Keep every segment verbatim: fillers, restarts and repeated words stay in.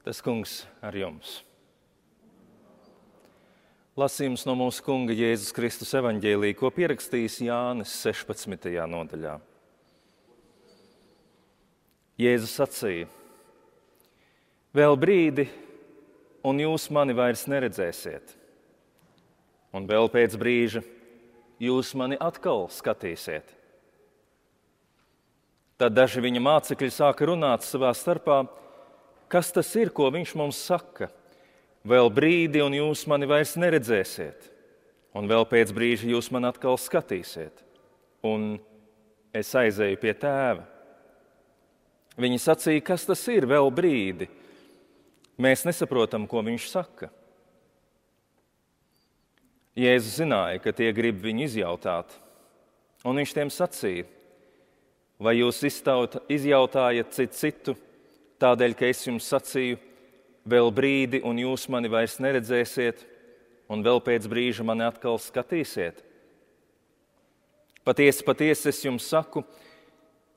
Tas kungs ar jums. Lasījums no mūsu kunga Jēzus Kristus evaņģēlija, ko pierakstījis Jānis sešpadsmitajā nodaļā. Jēzus sacīja: vēl brīdi, un jūs mani vairs neredzēsiet, un vēl pēc brīža jūs mani atkal skatīsiet. Tad daži viņa mācekļi sāka runāt savā starpā: kas tas ir, ko viņš mums saka? Vēl brīdi, un jūs mani vairs neredzēsiet, un vēl pēc brīža jūs mani atkal skatīsiet, un es aizēju pie tēva. Viņi sacīja: kas tas ir, vēl brīdi? Mēs nesaprotam, ko viņš saka. Jēzus zināja, ka tie grib viņu izjautāt, un viņš tiem sacīja: vai jūs izjautājat citu citu, tādēļ, ka es jums sacīju, vēl brīdi, un jūs mani vairs neredzēsiet, un vēl pēc brīža mani atkal skatīsiet? Patiesi, patiesi es jums saku,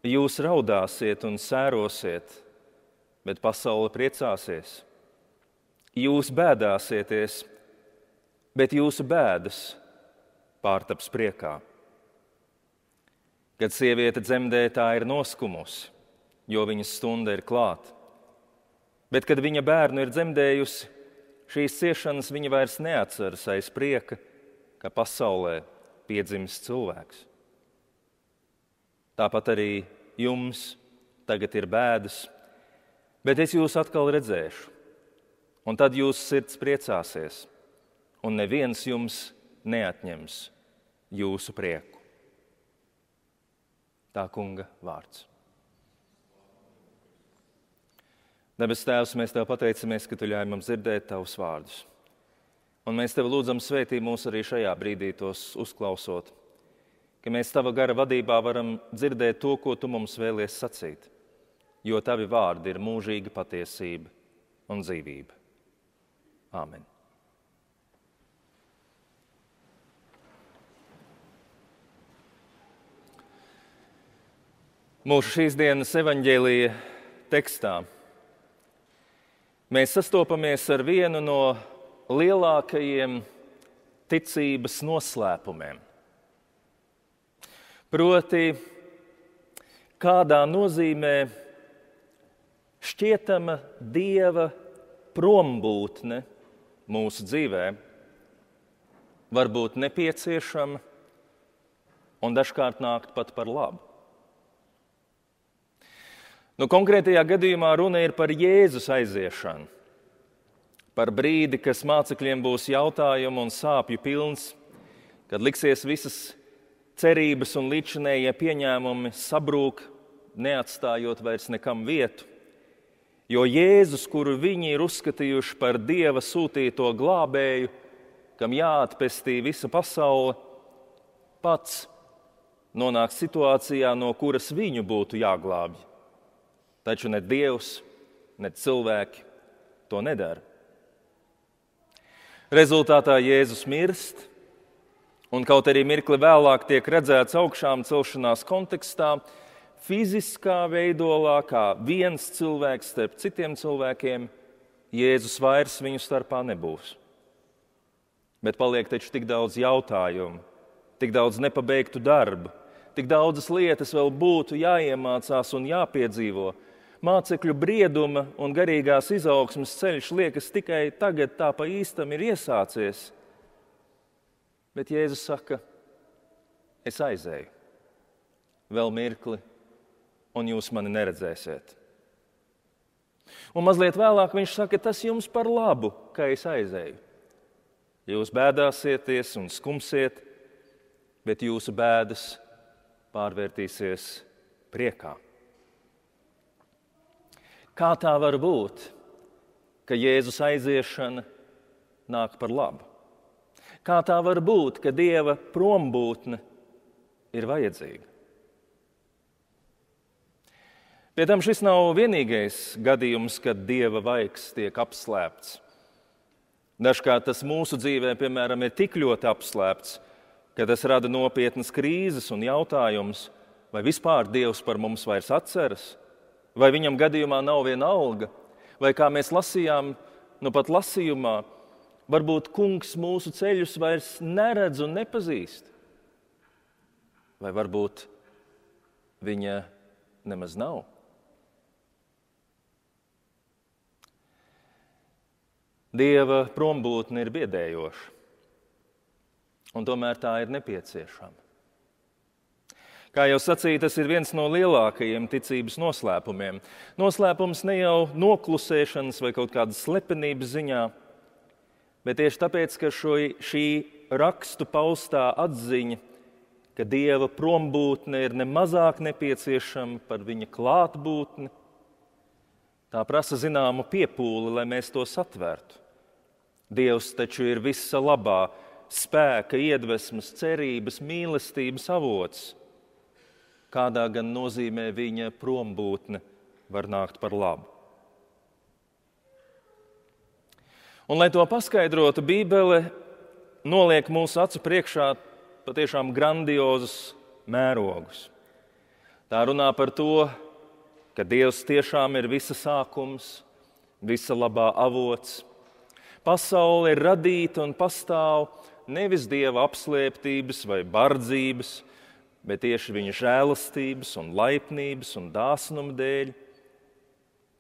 jūs raudāsiet un sērosiet, bet pasaule priecāsies. Jūs bēdāsieties, bet jūsu bēdas pārtaps priekā. Kad sieviete dzemdē, tā ir noskumusi, jo viņas stunda ir klāta. Bet, kad viņa bērnu ir dzemdējusi, šīs ciešanas viņa vairs neatceras aiz prieka, ka pasaulē piedzimis cilvēks. Tāpat arī jums tagad ir bēdas, bet es jūs atkal redzēšu, un tad jūsu sirds priecāsies, un neviens jums neatņems jūsu prieku. Tā kunga vārds. Debes Tēvs, mēs Tev pateicamies, ka Tu ļauj mums dzirdēt Tavus vārdus. Un mēs Tev lūdzam svētī mūs arī šajā brīdī tos uzklausot, ka mēs Tava gara vadībā varam dzirdēt to, ko Tu mums vēlies sacīt, jo Tavi vārdi ir mūžīga patiesība un dzīvība. Āmen. Mūsu šīs dienas evaņģēlija tekstā mēs sastopamies ar vienu no lielākajiem ticības noslēpumiem. Proti, kādā nozīmē šķietama Dieva prombūtne mūsu dzīvē var būt nepieciešama un dažkārt nākt pat par labu. Nu, konkrētajā gadījumā runa ir par Jēzus aiziešanu, par brīdi, kas mācekļiem būs jautājumu un sāpju pilns, kad liksies visas cerības un līdzinējie pieņēmumi sabrūk, neatstājot vairs nekam vietu, jo Jēzus, kuru viņi ir uzskatījuši par Dieva sūtīto glābēju, kam jāatpestī visa pasaule, pats nonāk situācijā, no kuras viņu būtu jāglābj. Taču ne Dievs, ne cilvēki to nedara. Rezultātā Jēzus mirst, un kaut arī mirkli vēlāk tiek redzēts augšām celšanās kontekstā, fiziskā veidolā, kā viens cilvēks starp citiem cilvēkiem, Jēzus vairs viņu starpā nebūs. Bet paliek taču tik daudz jautājumu, tik daudz nepabeigtu darbu, tik daudzas lietas vēl būtu jāiemācās un jāpiedzīvo. Mācekļu brieduma un garīgās izaugsmes ceļš liekas tikai tagad tā pa īstam ir iesācies. Bet Jēzus saka, es aizēju, vēl mirkli, un jūs mani neredzēsiet. Un mazliet vēlāk viņš saka, tas jums par labu, ka es aizēju. Jūs bēdāsieties un skumsiet, bet jūsu bēdas pārvērtīsies priekā. Kā tā var būt, ka Jēzus aiziešana nāk par labu? Kā tā var būt, ka Dieva prombūtne ir vajadzīga? Pie tam šis nav vienīgais gadījums, kad Dieva vaigs tiek apslēpts. Dažkārt tas mūsu dzīvē, piemēram, ir tik ļoti apslēpts, ka tas rada nopietnas krīzes un jautājumus, vai vispār Dievs par mums vairs atceras, vai viņam gadījumā nav viena alga, Vai kā mēs lasījām, nu pat lasījumā, varbūt kungs mūsu ceļus vairs neredz un nepazīst. Vai varbūt viņa nemaz nav. Dieva prombūtne ir biedējoša, un tomēr tā ir nepieciešama. Kā jau sacīju, tas ir viens no lielākajiem ticības noslēpumiem. Noslēpums ne jau noklusēšanas vai kaut kādas slepenības ziņā, bet tieši tāpēc, ka šo, šī rakstu paustā atziņa, ka Dieva prombūtne ir nemazāk nepieciešama par viņa klātbūtni, tā prasa zināmu piepūli, lai mēs to satvērtu. Dievs taču ir visa labā, spēka, iedvesmas, cerības, mīlestības avots. Kādā gan nozīmē viņa prombūtne var nākt par labu. Un, lai to paskaidrotu, Bībele noliek mūsu acu priekšā patiešām grandiozus mērogus. Tā runā par to, ka Dievs tiešām ir visa sākums, visa labā avots. Pasaule ir radīta un pastāv nevis Dieva apslēptības vai bardzības, bet tieši viņa žēlastības un laipnības un dāsnuma dēļ.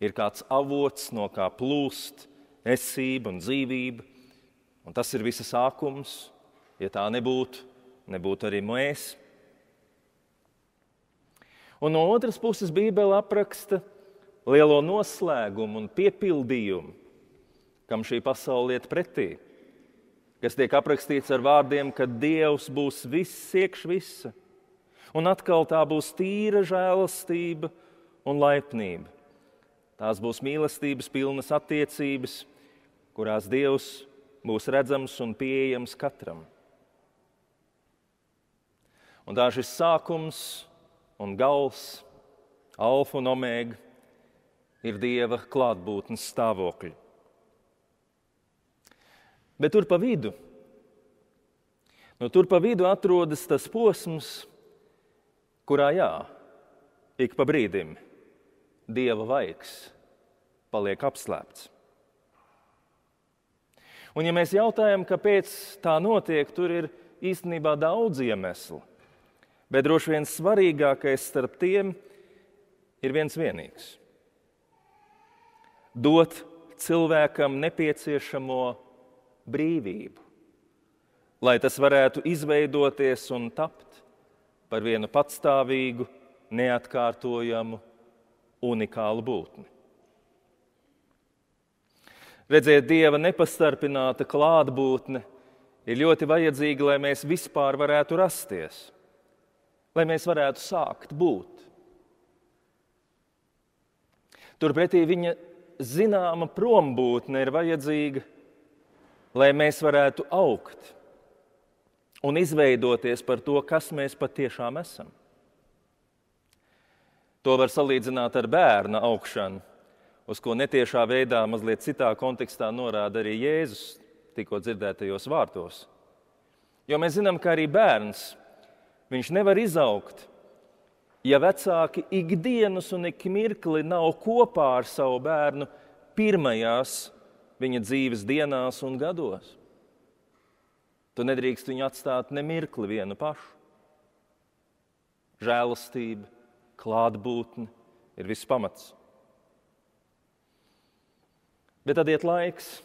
Ir kāds avots, no kā plūst esība un dzīvība, un tas ir visa sākums. Ja tā nebūtu, nebūtu arī mēs. Un no otras puses Bībele apraksta lielo noslēgumu un piepildījumu, kam šī pasaule iet pretī, kas tiek aprakstīts ar vārdiem, ka Dievs būs viss iekš visa, un atkal tā būs tīra žēlastība un laipnība. Tās būs mīlestības pilnas attiecības, kurās Dievs būs redzams un pieejams katram. Un tā šis sākums un gals, alfa un omega, ir Dieva klātbūtnes stāvokļi. Bet tur pa vidu, nu, tur pa vidu atrodas tas posms, kurā jā, ik pa brīdim Dieva vaigs paliek apslēpts. Un ja mēs jautājam, kāpēc tā notiek, tur ir īstenībā daudz iemeslu, bet droši vien svarīgākais starp tiem ir viens vienīgs. Dot cilvēkam nepieciešamo brīvību, lai tas varētu izveidoties un tapt par vienu patstāvīgu, neatkārtojamu, unikālu būtni. Redziet, Dieva nepastarpināta klātbūtne ir ļoti vajadzīga, lai mēs vispār varētu rasties, lai mēs varētu sākt būt. Turpretī viņa zināma prombūtne ir vajadzīga, lai mēs varētu augt un izveidoties par to, kas mēs patiešām esam. To var salīdzināt ar bērna augšanu, uz ko netiešā veidā mazliet citā kontekstā norāda arī Jēzus tikko dzirdētajos vārtos. Jo mēs zinām, ka arī bērns, viņš nevar izaugt, ja vecāki ikdienas un ik mirkli nav kopā ar savu bērnu pirmajās viņa dzīves dienās un gados. Tu nedrīkst viņu atstāt ne mirkli vienu pašu. Žēlastība, klātbūtne ir viss pamats. Bet tad iet laiks,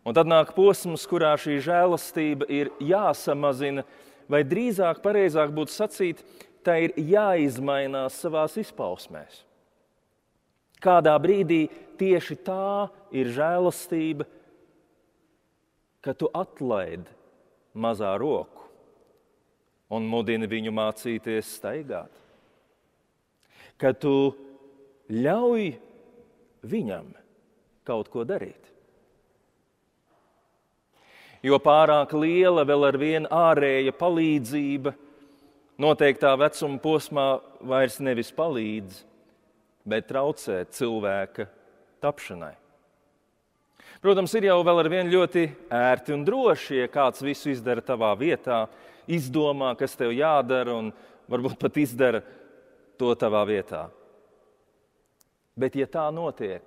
un tad nāk posms, kurā šī žēlastība ir jāsamazina, vai drīzāk pareizāk būtu sacīt, tā ir jāizmainās savās izpausmēs. Kādā brīdī tieši tā ir žēlastība, ka tu atlaidi mazā roku un mudini viņu mācīties staigāt. Ka tu ļauj viņam kaut ko darīt. Jo pārāk liela vēl ar vien ārēja palīdzība noteiktā vecuma posmā vairs nevis palīdz, bet traucē cilvēka tapšanai. Protams, ir jau vēl ar vien ļoti ērti un droši, ja kāds visu izdara tavā vietā, izdomā, kas tev jādara un varbūt pat izdara to tavā vietā. Bet ja tā notiek,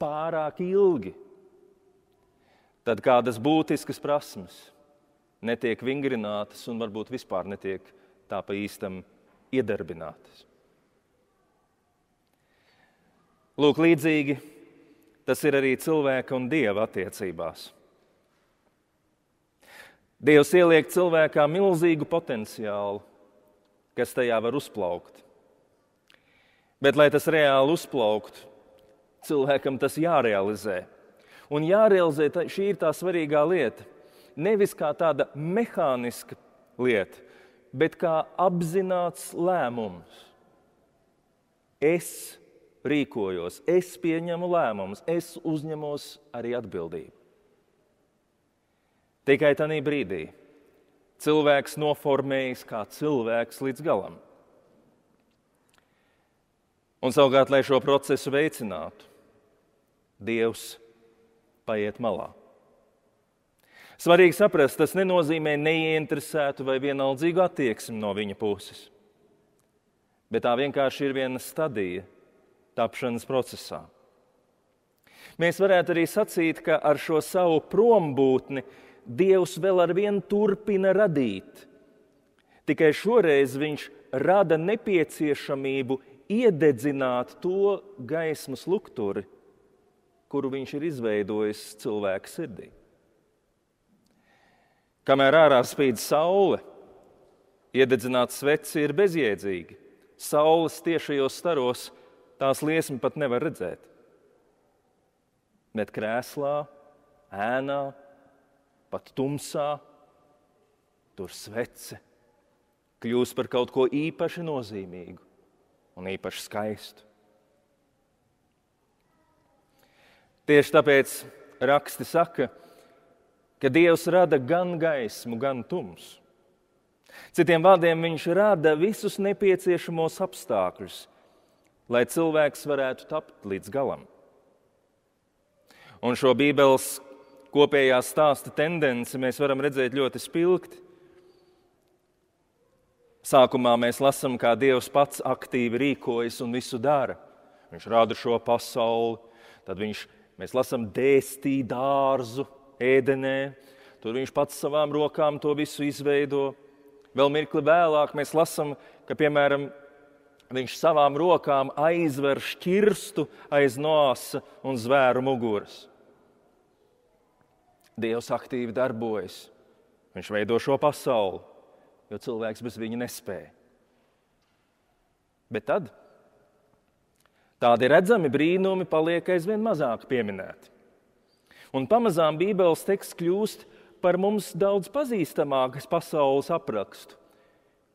pārāk ilgi, tad kādas būtiskas prasmes netiek vingrinātas un varbūt vispār netiek tā pa īstam iedarbinātas. Lūk, līdzīgi tas ir arī cilvēka un Dieva attiecībās. Dievs ieliek cilvēkā milzīgu potenciālu, kas tajā var uzplaukt. Bet, lai tas reāli uzplauktu, cilvēkam tas jārealizē. Un jārealizē, šī ir tā svarīgā lieta. Nevis kā tāda mehāniska lieta, bet kā apzināts lēmums. Es rīkojos, es pieņemu lēmumus, es uzņemos arī atbildību. Tikai tādā brīdī cilvēks noformējas kā cilvēks līdz galam. Un savukārt, lai šo procesu veicinātu, Dievs paiet malā. Svarīgi saprast, tas nenozīmē neieinteresētu vai vienaldzīgu attieksmi no viņa puses. Bet tā vienkārši ir viena stadija tapšanas procesā. Mēs varētu arī sacīt, ka ar šo savu prombūtni Dievs vēl ar vienu turpina radīt. Tikai šoreiz viņš rada nepieciešamību iededzināt to gaismas lukturi, kuru viņš ir izveidojis cilvēka sirdī. Kamēr ārā spīd saule, iededzināt sveci ir bezjēdzīgi. Saules tiešajos staros tās liesmu pat nevar redzēt. Bet krēslā, ēnā, pat tumsā, tur svece kļūst par kaut ko īpaši nozīmīgu un īpaši skaistu. Tieši tāpēc raksti saka, ka Dievs rada gan gaismu, gan tumsu. Citiem vārdiem, viņš rada visus nepieciešamos apstākļus, lai cilvēks varētu tapt līdz galam. Un šo Bībeles kopējā stāsta tendenci mēs varam redzēt ļoti spilgti. Sākumā mēs lasām, kā Dievs pats aktīvi rīkojas un visu dara. Viņš rada šo pasauli, tad viņš, mēs lasām, dēstī dārzu ēdenē, tur viņš pats savām rokām to visu izveido. Vēl mirkli vēlāk mēs lasām, ka, piemēram, viņš savām rokām aizver šķirstu aiz nosa un zvēru muguras. Dievs aktīvi darbojas. Viņš veido šo pasauli, jo cilvēks bez viņa nespēja. Bet tad tādi redzami brīnumi paliek aizvien mazāk pieminēti. Un pamazām Bībeles teksts kļūst par mums daudz pazīstamākas pasaules aprakstu,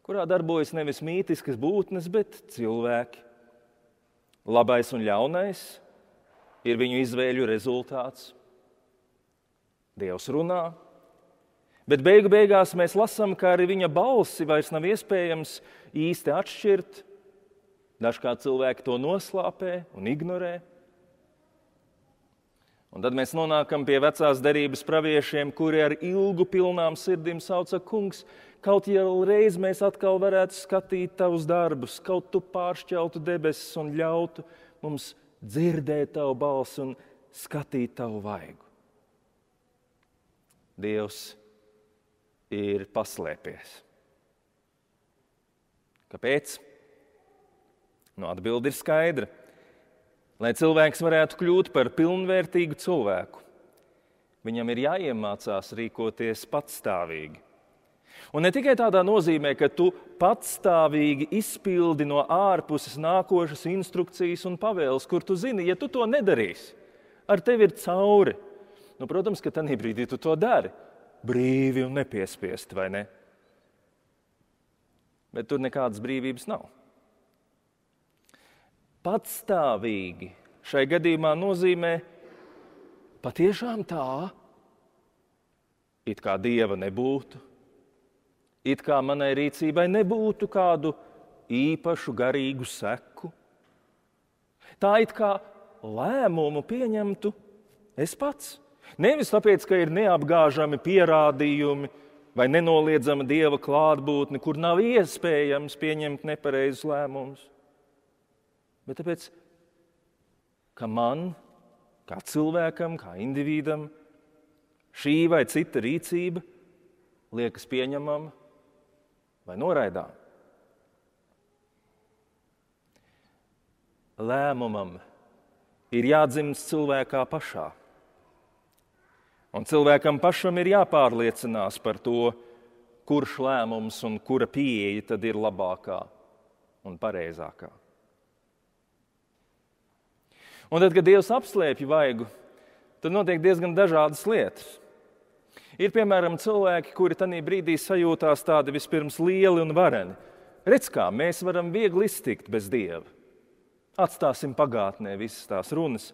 kurā darbojas nevis mītiskas būtnes, bet cilvēki. Labais un ļaunais ir viņu izvēļu rezultāts. Dievs runā, bet beigu beigās mēs lasām, ka arī viņa balsi vairs nav iespējams īsti atšķirt. Dažkārt cilvēki to noslāpē un ignorē. Un tad mēs nonākam pie vecās derības praviešiem, kuri ar ilgu pilnām sirdim sauca: Kungs, kaut jau reiz mēs atkal varētu skatīt tavus darbus, kaut tu pāršķeltu debesis un ļautu mums dzirdēt tavu balsi un skatīt tavu vaigu. Dievs ir paslēpies. Kāpēc? Nu, atbilde ir skaidra. Lai cilvēks varētu kļūt par pilnvērtīgu cilvēku, viņam ir jāiemācās rīkoties patstāvīgi. Un ne tikai tādā nozīmē, ka tu patstāvīgi izpildi no ārpuses nākošas instrukcijas un pavēles, kur tu zini, ja tu to nedarīsi, ar tevi ir cauri. Nu, protams, ka tanī brīdī tu to dari, brīvi un nepiespiesti, vai ne? Bet tur nekādas brīvības nav. Patstāvīgi šai gadījumā nozīmē patiešām tā, it kā Dieva nebūtu, it kā manai rīcībai nebūtu kādu īpašu garīgu seku. Tā it kā lēmumu pieņemtu es pats. Nevis tāpēc, ka ir neapgāžami pierādījumi vai nenoliedzama Dieva klātbūtne, kur nav iespējams pieņemt nepareizus lēmumus, bet tāpēc, ka man kā cilvēkam, kā individam, šī vai cita rīcība liekas pieņemama vai noraidām. Lēmumam ir jādzimst cilvēkā pašā. Un cilvēkam pašam ir jāpārliecinās par to, kurš lēmums un kura pieeja tad ir labākā un pareizākā. Un tad, kad Dievs apslēpj vaigu, tad notiek diezgan dažādas lietas. Ir, piemēram, cilvēki, kuri tajā brīdī sajūtās tādi vispirms lieli un vareni. Redz kā, mēs varam viegli iztikt bez Dieva. Atstāsim pagātnē visas tās runas.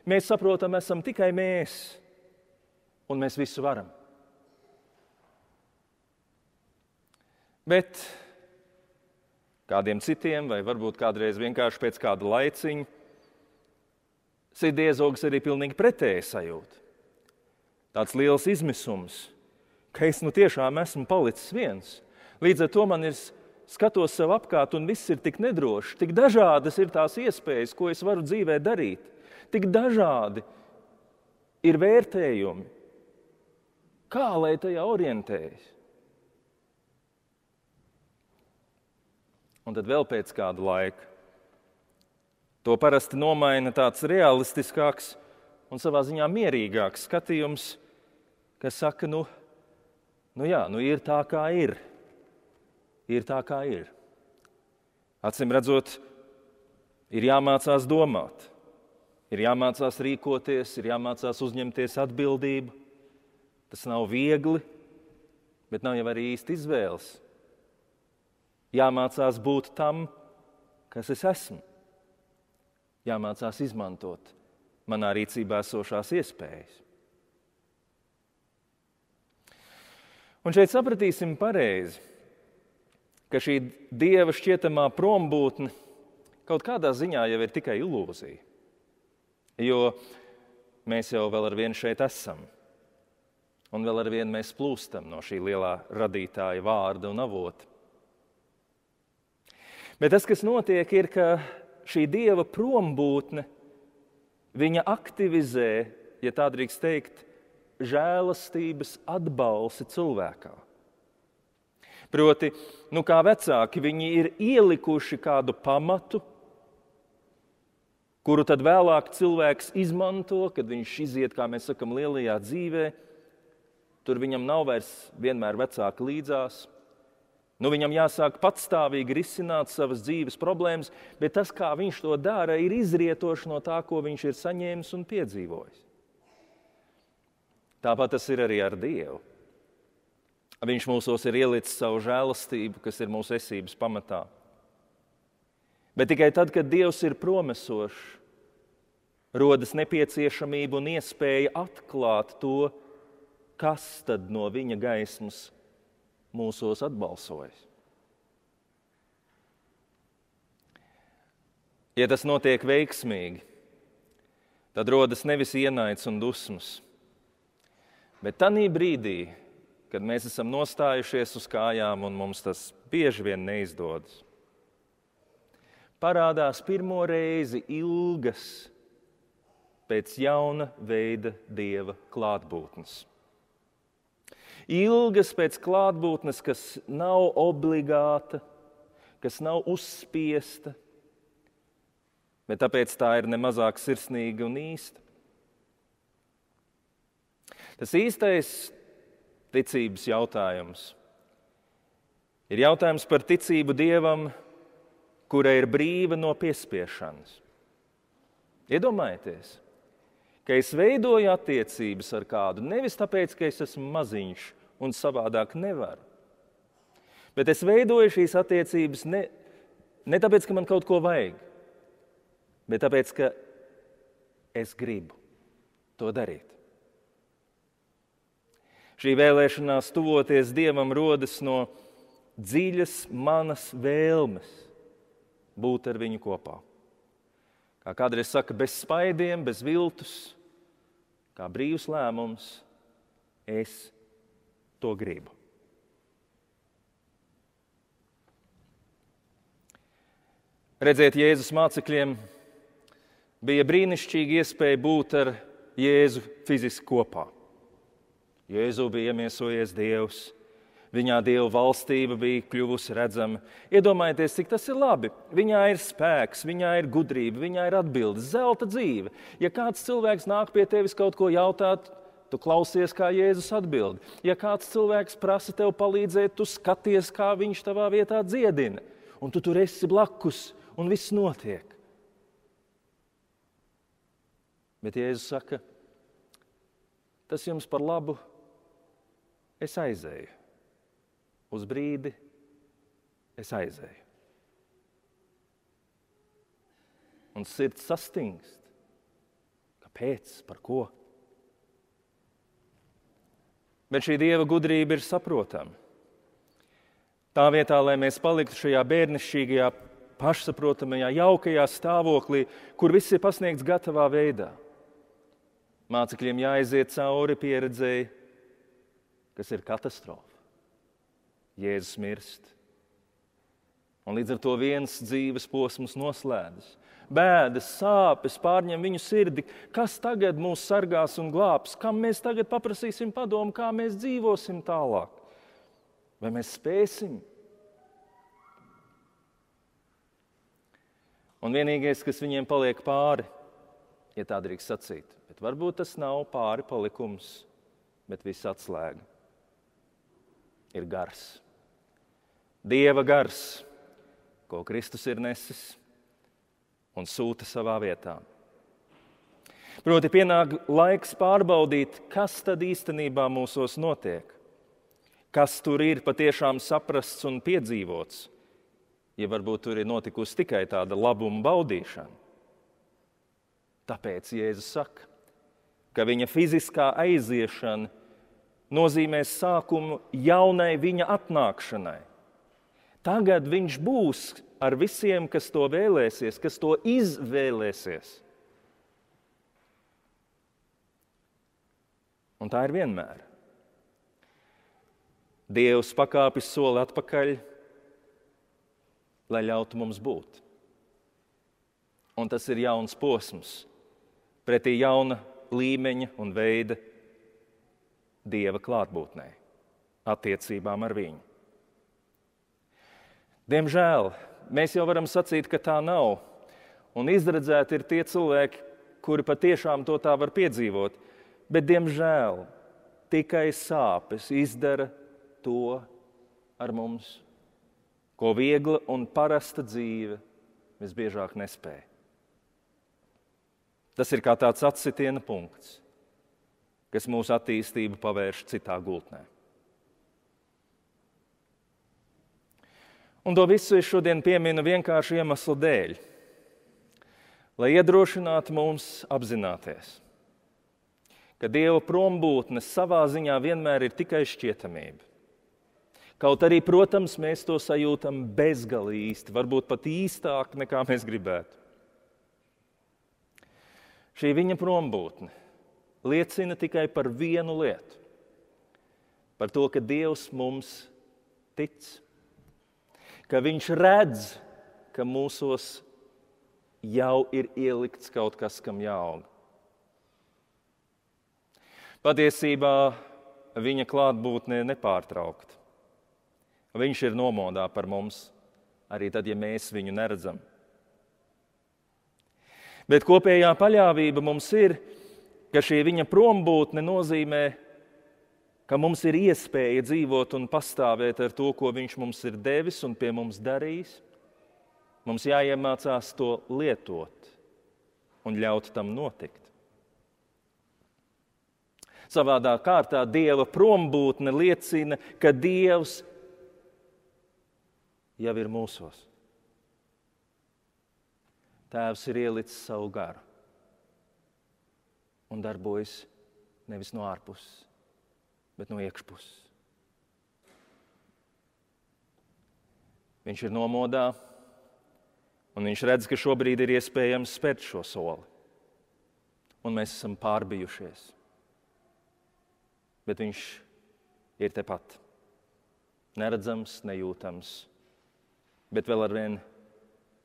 Mēs saprotam, esam tikai mēs, un mēs visu varam. Bet kādiem citiem, vai varbūt kādreiz vienkārši pēc kāda laiciņa, sirdiezogs arī pilnīgi pretēji sajūta. Tāds liels izmisums, ka es nu tiešām esmu palicis viens. Līdz ar to man ir skatos sev apkārt un viss ir tik nedroši, tik dažādas ir tās iespējas, ko es varu dzīvē darīt. Tik dažādi ir vērtējumi. Kā lai tajā orientējas? Un tad vēl pēc kāda laika to parasti nomaina tāds realistiskāks un savā ziņā mierīgāks skatījums, kas saka, nu, nu jā, nu ir tā, kā ir. Ir tā, kā ir. Acīm redzot, ir jāmācās domāt, ir jāmācās rīkoties, ir jāmācās uzņemties atbildību. Tas nav viegli, bet nav jau arī īsti izvēles. Jāmācās būt tam, kas es esmu. Jāmācās izmantot manā rīcībā esošās iespējas. Un šeit sapratīsim pareizi, ka šī Dieva šķietamā prombūtne kaut kādā ziņā jau ir tikai ilūzija. Jo mēs jau vēl ar vienu šeit esam. Un vēl ar vienu mēs plūstam no šī lielā radītāja vārda un avota. Bet tas, kas notiek, ir, ka šī Dieva prombūtne, viņa aktivizē, ja tā drīkst teikt, žēlastības atbalsi cilvēkā. Proti, nu kā vecāki, viņi ir ielikuši kādu pamatu, kuru tad vēlāk cilvēks izmanto, kad viņš iziet, kā mēs sakam, lielajā dzīvē. Tur viņam nav vairs vienmēr vecāki līdzās. Nu, viņam jāsāk patstāvīgi risināt savas dzīves problēmas, bet tas, kā viņš to dara, ir izrietoši no tā, ko viņš ir saņēmis un piedzīvojis. Tāpat tas ir arī ar Dievu. Viņš mūsos ir ielicis savu žēlastību, kas ir mūsu esības pamatā. Bet tikai tad, kad Dievs ir promesošs, rodas nepieciešamība un iespēja atklāt to, kas tad no viņa gaismas mūsos atbalsojas. Ja tas notiek veiksmīgi, tad rodas nevis ienaids un dusmas, bet tanī brīdī, kad mēs esam nostājušies uz kājām un mums tas bieži vien neizdodas, parādās pirmo reizi ilgas pēc jauna veida Dieva klātbūtnes. Ilgas pēc klātbūtnes, kas nav obligāta, kas nav uzspiesta, bet tāpēc tā ir nemazāk sirsnīga un īsta. Tas īstais ticības jautājums ir jautājums par ticību Dievam, kura ir brīva no piespiešanas. Iedomājieties, ka es veidoju attiecības ar kādu nevis tāpēc, ka es esmu maziņš un savādāk nevaru, bet es veidoju šīs attiecības ne, ne tāpēc, ka man kaut ko vajag, bet tāpēc, ka es gribu to darīt. Šī vēlēšanās tuvoties Dievam rodas no dziļas manas vēlmes būt ar viņu kopā. Kā kādreiz saka, bez spaidiem, bez viltus, kā brīvs lēmums, es to gribu. Redziet, Jēzus mācekļiem bija brīnišķīga iespēja būt ar Jēzu fiziski kopā. Jēzu bija iemiesojies Dievs, viņā Dieva valstība bija kļuvusi redzama. Iedomājieties, cik tas ir labi. Viņā ir spēks, viņā ir gudrība, viņā ir atbildes, zelta dzīve. Ja kāds cilvēks nāk pie tevis kaut ko jautāt, tu klausies, kā Jēzus atbild. Ja kāds cilvēks prasa tev palīdzēt, tu skaties, kā viņš tavā vietā dziedina. Un tu tur esi blakus, un viss notiek. Bet Jēzus saka, tas jums par labu, es aizēju. Uz brīdi es aizēju. Un sirds sastingst. Kāpēc? Par ko? Bet šī Dieva gudrība ir saprotama. Tā vietā, lai mēs paliktu šajā bērnišķīgajā, pašsaprotamajā, jaukajā stāvoklī, kur viss ir pasniegts gatavā veidā. Mācekļiem jāaiziet cauri pieredzēji, kas ir katastrofa. Jēzus mirst. Un līdz ar to viens dzīves posms noslēdzas. Bēdas, sāpes pārņem viņu sirdi. Kas tagad mūs sargās un glābs? Kam mēs tagad paprasīsim padomu, kā mēs dzīvosim tālāk? Vai mēs spēsim? Un vienīgais, kas viņiem paliek pāri, ja tā drīkst sacīt, bet varbūt tas nav pāri palikums, bet viss atslēga, ir gars. Dieva gars, ko Kristus ir nesis un sūta savā vietā. Proti pienāk laiks pārbaudīt, kas tad īstenībā mūsos notiek, kas tur ir patiešām saprasts un piedzīvots, ja varbūt tur ir notikusi tikai tāda labuma baudīšana. Tāpēc Jēzus saka, ka viņa fiziskā aiziešana nozīmēs sākumu jaunai viņa atnākšanai. Tagad viņš būs ar visiem, kas to vēlēsies, kas to izvēlēsies. Un tā ir vienmēr. Dievs pakāpis soli atpakaļ, lai ļautu mums būt. Un tas ir jauns posms, pretī jauna līmeņa un veida Dieva klātbūtnē, attiecībām ar viņu. Diemžēl mēs jau varam sacīt, ka tā nav, un izredzēti ir tie cilvēki, kuri patiešām to tā var piedzīvot, bet diemžēl tikai sāpes izdara to ar mums, ko viegla un parasta dzīve visbiežāk nespēj. Tas ir kā tāds atsitiena punkts, kas mūsu attīstību pavērš citā gultnē. Un to visu es šodien pieminu vienkārši iemeslu dēļ, lai iedrošinātu mums apzināties, ka Dieva prombūtne savā ziņā vienmēr ir tikai šķietamība. Kaut arī, protams, mēs to sajūtam bezgalīgi īsti, varbūt pat īstāk, nekā mēs gribētu. Šī viņa prombūtne liecina tikai par vienu lietu, par to, ka Dievs mums tic, ka viņš redz, ka mūsos jau ir ielikts kaut kas, kam jāaug. Patiesībā viņa klātbūtne ir nepārtraukta. Viņš ir nomodā par mums, arī tad, ja mēs viņu neredzam. Bet kopējā paļāvība mums ir, ka šī viņa prombūtne nozīmē, ka mums ir iespēja dzīvot un pastāvēt ar to, ko viņš mums ir devis un pie mums darījis. Mums jāiemācās to lietot un ļaut tam notikt. Savādā kārtā Dieva prombūtne liecina, ka Dievs jau ir mūsos. Tēvs ir ielicis savu garu un darbojas nevis no ārpuses, bet no iekšpuses. Viņš ir nomodā, un viņš redz, ka šobrīd ir iespējams spērt šo soli. Un mēs esam pārbijušies. Bet viņš ir tepat. Neredzams, nejūtams, bet vēl arvien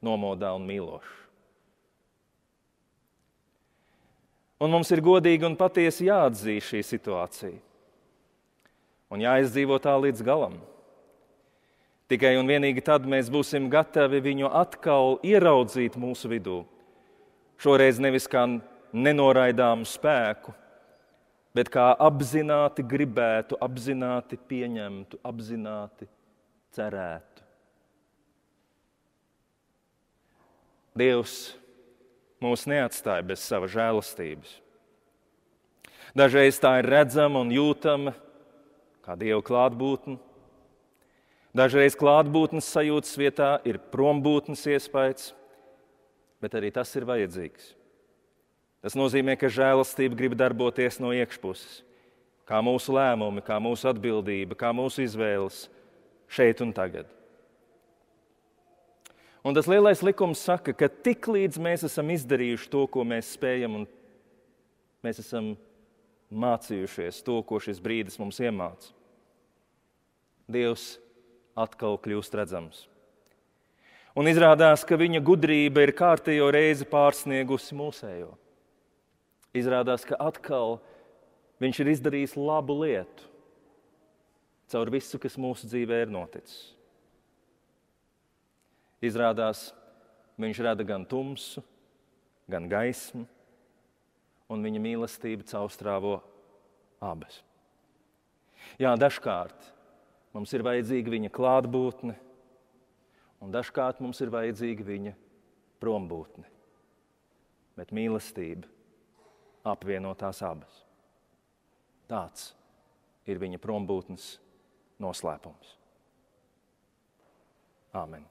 nomodā un mīlošs. Un mums ir godīgi un patiesi jāatzīst šī situācija. Un jāizdzīvo tā līdz galam. Tikai un vienīgi tad mēs būsim gatavi viņu atkal ieraudzīt mūsu vidū. Šoreiz nevis kā nenoraidāmu spēku, bet kā apzināti gribētu, apzināti pieņemtu, apzināti cerētu. Dievs mūs neatstāja bez sava žēlastības. Dažreiz tā ir redzama un jūtama, kā Dieva klātbūtne. Dažreiz klātbūtnes sajūtas vietā ir prombūtnes iespējas, bet arī tas ir vajadzīgs. Tas nozīmē, ka žēlastība grib darboties no iekšpuses, kā mūsu lēmumi, kā mūsu atbildība, kā mūsu izvēles šeit un tagad. Un tas lielais likums saka, ka tik līdz mēs esam izdarījuši to, ko mēs spējam, un mēs esam mācījušies to, ko šis brīdis mums iemāca, Dievs atkal kļūst redzams. Un izrādās, ka viņa gudrība ir kārtējo reizi pārsniegusi mūsējo. Izrādās, ka atkal viņš ir izdarījis labu lietu caur visu, kas mūsu dzīvē ir noticis. Izrādās, viņš rada gan tumsu, gan gaismu, un viņa mīlestība caurstrāvo abas. Jā, dažkārt mums ir vajadzīga viņa klātbūtne, un dažkārt mums ir vajadzīga viņa prombūtne. Bet mīlestība apvieno tās abas. Tāds ir viņa prombūtnes noslēpums. Āmen.